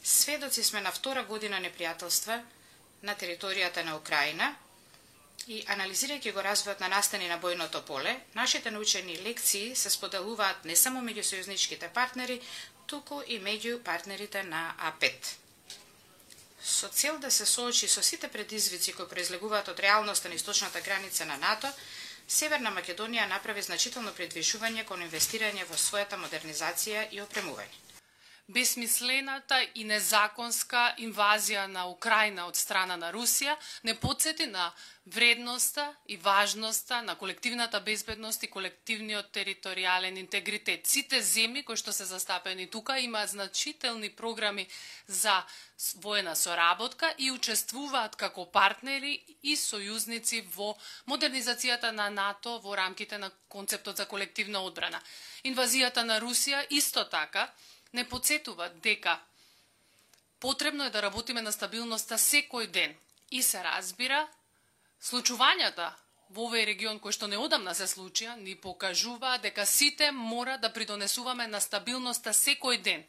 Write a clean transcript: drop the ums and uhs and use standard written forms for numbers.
Сведоци сме на втора година непријателства на територијата на Украина и анализирајќи го развојот на настани на бојното поле, нашите научени лекции се споделуваат не само меѓу сојузничките партнери, туку и меѓу партнерите на А5. Со цел да се соочи со сите предизвици кои произлегуваат од реалноста на источната граница на НАТО, Северна Македонија направи значително придвижување кон инвестирање во својата модернизација и опремување. Безсмислената и незаконска инвазија на Украина од страна на Русија не потсети на вредноста и важноста на колективната безбедност и колективниот територијален интегритет. Сите земји кои што се застапени тука имаат значителни програми за воена соработка и учествуваат како партнери и сојузници во модернизацијата на НАТО во рамките на концептот за колективна одбрана. Инвазијата на Русија исто така не потсетува дека потребно е да работиме на стабилноста секој ден и се разбира, случувањата во овој регион кои што неодамна се случија ни покажува дека сите мора да придонесуваме на стабилноста секој ден.